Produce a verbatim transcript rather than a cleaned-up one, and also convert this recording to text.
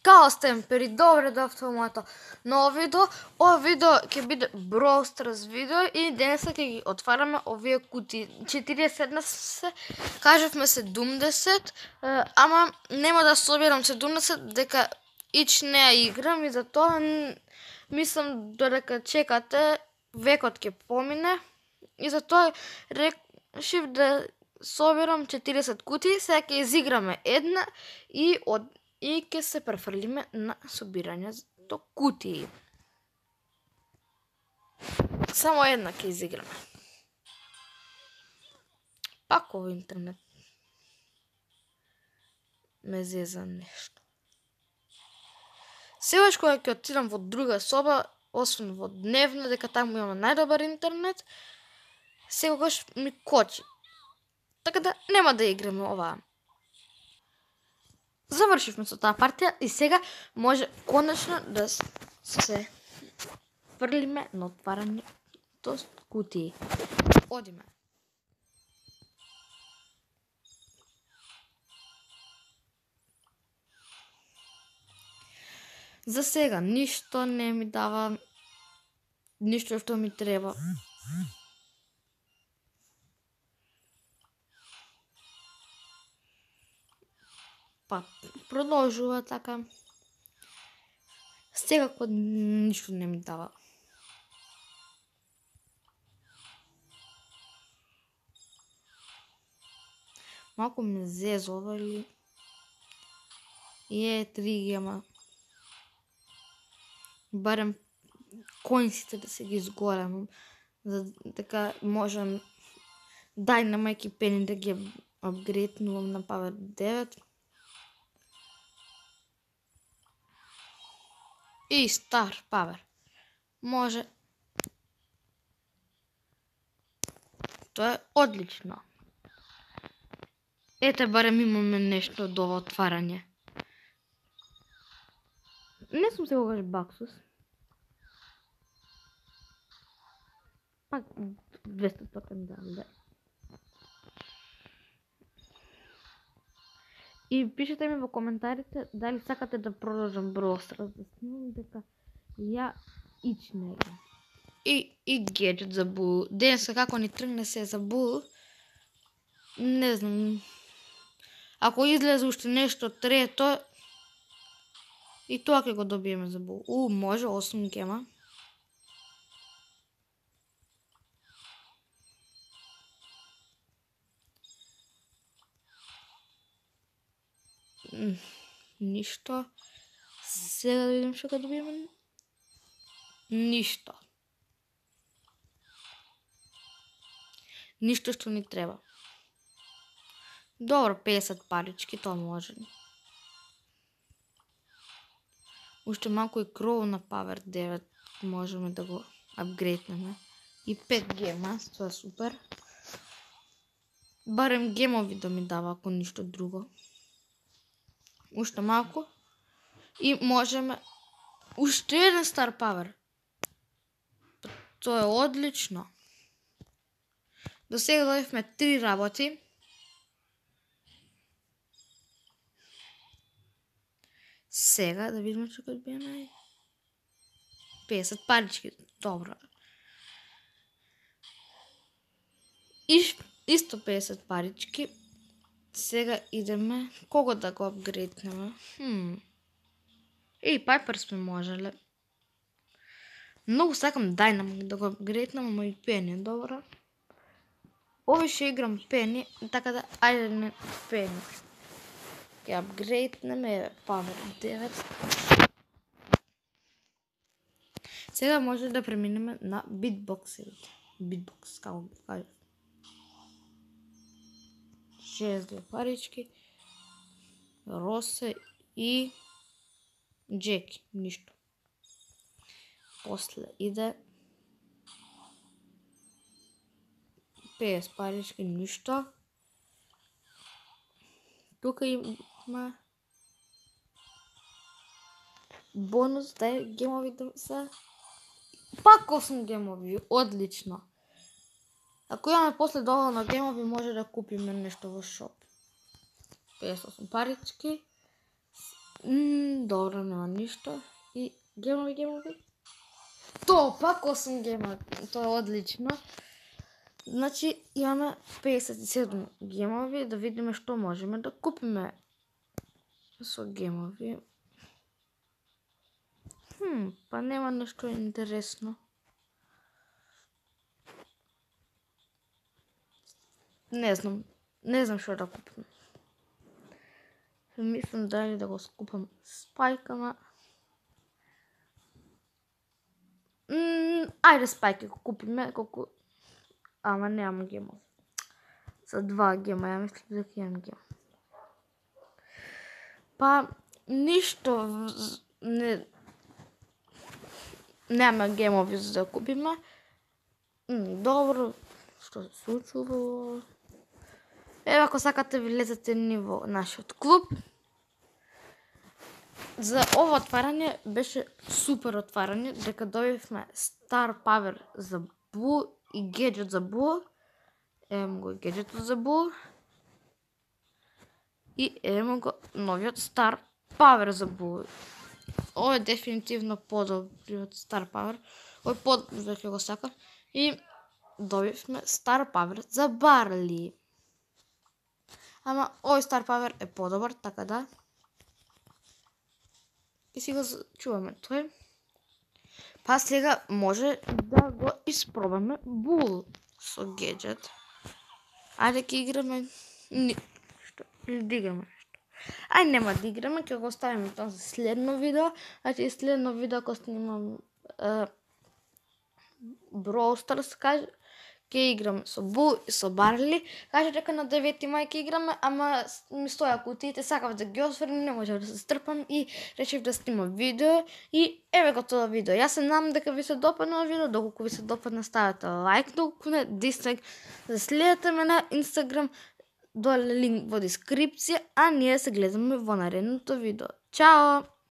Као стемпери, добре дојавте во моето ново видео. Ова видео ќе биде Brawl Stars видео и денеска ќе ги отвараме овие кутии. четириесет се, кажавме седумдесет, ама нема да соберам седумдесет дека ич не ја играм и затоа мислам додека чекате векот ќе помине и затоа решив да соберам четириесет кутии. Сега ќе изиграме една и од и ќе се префрлиме на собирањето кутии. Само една ќе изиграме. Пак ово интернет ме зеза нешто. Сегаш кога ќе отидам во друга соба, освен во дневна, дека таму имаме најдобар интернет, секогаш ми кочи. Така да нема да играме оваа. Завршивме со таа партија и сега може конечно да се фрлиме на отварањето кутии. Одиме. За сега ништо не ми дава, ништо што ми треба. Па продолжува така. Секако ништо не ми дава. Малку ме зезова или е три гема. Барем коинсите да се ги изголемам, за дека можам Dynamite Penny да ги апгрейднувам на Power девет. И Star Power. Може. Тоа е одлично. Ете, барем имаме нешто од ова отварање. Не сум секогаш баксус. Пак двеста токен дам. И пишете ми во коментарите дали сакате да продолжам Brawl Stars, да снимам, дека ја ич не играм. И, и гаджет за Бул. Денеска како ни тргне се за Бул, не знам. Ако излезе уште нешто трето, и тоа ќе го добиеме за Бул. У, може, осум гема. Ништо. Сега да видим што ќе добиеме. Ништо. Ништо што ни треба. Добро, песет парички, тоа може. Уште малку и кров на Power девет можеме да го апгрейднеме. И пет гема, тоа е супер. Барем гемови да ми дава, ако ништо друго. Уште малку. И можеме уште еден Star Power. Тоа е одлично. До сега дојавме три работи. Сега да видиме што ќе биеме. песет парички, добро. И исто песет парички. Сега идеме кого да го апгрейднеме. Хм. И Пайпер сме можеле. Многу сакам Dynamite да го апгрейднам, ама и Penny е добра. Ови ще играм Penny, така да ајде не Penny. Ќе апгрейднеме Power девет. Сега може да преминеме на битбоксите. Битбокс, како го кажа. шест две парички. Росе и Джеки. Ништо. После иде песет парички. Ништо. Тука има бонус, дај гемови да се. Пак осум гемови, одлично. Ако имаме после доволно гемови, може да купиме нешто во шоп. песет осум парички. М, добро, нема ништо. И гемови, гемови. То, пак осум гема. Тоа е одлично. Значи, имаме педесет и седум гемови, да видиме што можеме да купиме со гемови. Хм, па нема нешто интересно. Не знам, не знам што да купам. Мислам дали да го скупам Спайк, ама... М, ајде Спайк го купиме, колку... Ама немам гемов. За два гема, ја мислам дека имам гем. Па, ништо не... Нема гемови за да купиме. М, добро, што се случува? Еве, ако сакате ви лезете ни во нашиот клуб. За ова отварање беше супер отварање, дека добивме Star Power за Бу и гаджет за Бу. Еве го гаджетот за Бу. И еве го новиот Star Power за Бу. Ова е дефинитивно подобриот Star Power. Ој под веќе го сакам. И добивме Star Power за Барли. Ама овој Star Power е подобар, така да. И си го чуваме тој. Па сега може да го испробаме Бул со гаджет. Ајде ќе играме ништо, или да играме нешто. Ај нема да играме, ќе го оставиме тоа за следно видео. Значи следно видео кога снимам е, Brawl Stars, каже, ќе играм со Бул и со Барли. Каже дека на девети мај ќе играме, ама ми стоја кутиите, сакав да ги осврнем, не можев да се стрпам и речев да снимам видео. И еве го тоа видео. Јас се надам дека ви се допадна видео, доколку ви се допадна ставете лайк, доколку не дислайк, да следете ме на Инстаграм, доле линк во дескрипција, а ние се гледаме во наредното видео. Чао!